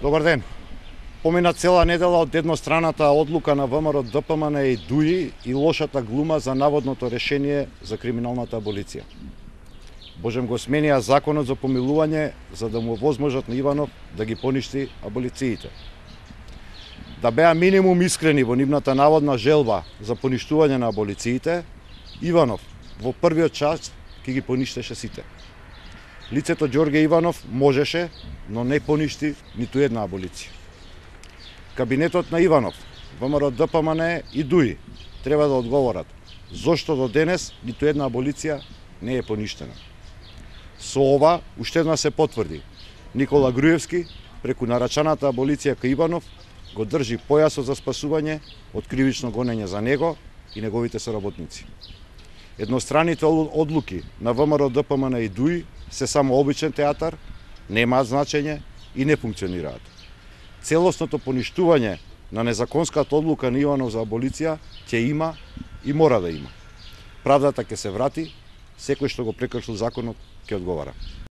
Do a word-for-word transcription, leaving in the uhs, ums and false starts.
Добар ден. Помина цела недела од едностраната одлука на ВМРО Д П М Н и ДУИ и лошата глума за наводното решение за криминалната аболиција. Божем го сменија законот за помилување за да му возможат на Иванов да ги поништи аболициите. Да беа минимум искрени во нивната наводна желба за поништување на аболициите, Иванов во првиот час ќе ги поништеше сите. Лицето Ѓорѓе Иванов можеше, но не поништи ниту една аболиција. Кабинетот на Иванов, ВМРО Д П М Н и ДУИ треба да одговорат зошто до денес ниту една аболиција не е поништена. Со ова уште една се потврди. Никола Груевски, преку нарачаната аболиција кај Иванов, го држи појасот за спасување од кривично гонење за него и неговите соработници. Едностраните одлуки на ВМРО Д П М Н и ДУИ се само обичен театар, немаат значење и не функционираат. Целосното поништување на незаконската одлука на Иванов за аболиција ќе има и мора да има. Правдата ќе се врати, секој што го прекршил законот ќе одговара.